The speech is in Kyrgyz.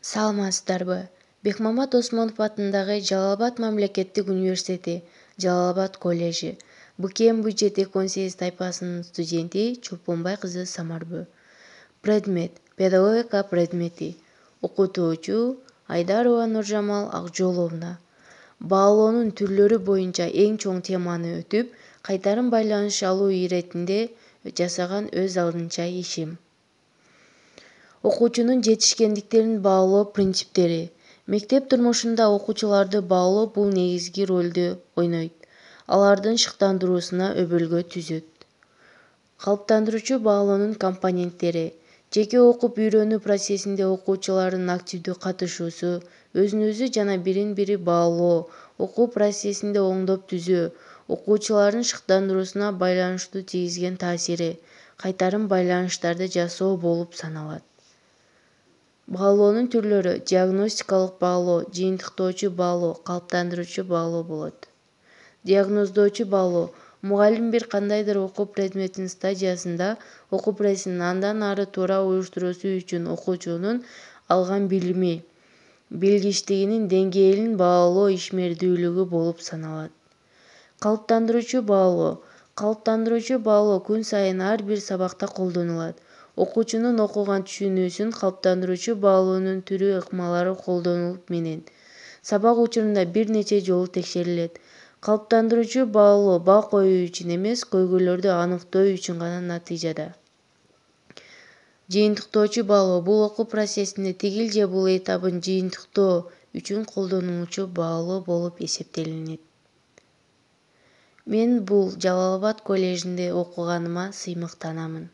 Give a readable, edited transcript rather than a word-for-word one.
Саламатсыздарбы? Бекмамат Осмонов атындагы Жалал-Абад мамлекеттик университети, Жалал-Абад коллежи, БКМ бюджет 2018 тайпасынын студенти Чолпонбай кызы Самарбү. Предмет – педагогика предмети. Окутуучу Айдарова Нуржамал Акжоловна. Баалоонун түрлөрү боюнча эң чоң теманы өтүп, кайтарым байланыш алуу иретинде жасаган өз алдынча ишим. Окуучунун жетишкендиктерин баалоо принциптери. Мектеп турмушунда окуучуларды баалоо бул негизги ролду ойнойт. Алардын шыктандыруусуна өбөлгө түзөт. Калыптандыруучу баалоонун компоненттери. Жеке окуп үйрөнүү процессинде окуучулардын активдүү катышуусу, өзүн-өзү жана бирин-бири баалоо, окуу процессинде оңдоп түзөө, окуучулардын шыктандыруусуна байланыштуу тийгизген таасири, кайтарым байланыштарды жасоо болуп саналат. Баалоонун түрлөрү – диагностикалык баалоо, жыйынтыктоочу баалоо, калыптандыруучу баалоо болот. Диагноздоочу баалоо – мугалим бир кандайдыр окуу предметинин стадиясында окуу процессин андан ары туура уюштуруусу үчүн окуучунун алган билими, билгичтигинин деңгээлин баалоо ишмердүүлүгү болуп саналат. Калыптандыруучу баалоо – калыптандыруучу баалоо күн сайын ар бир сабакта колдонулат. Окуучунун окуган түшүнүүсүн калыптандыруучу баалоонун түрү ыкмалары колдонулуп менен сабак учурунда бир нече жолу текшерилет. Калыптандыруучу баалоо бал коюу үчүн эмес, көйгөйлөрдү аныктоо үчүн гана натыйжада. Жыйынтыктоочу баалоо – бул окуу процессинде тигил же бул этабын жыйынтыктоо үчүн колдонулуучу баалоо болуп эсептелинет. Мен бул Жалал-Абад коллежинде окуганыма сыймыктанамын.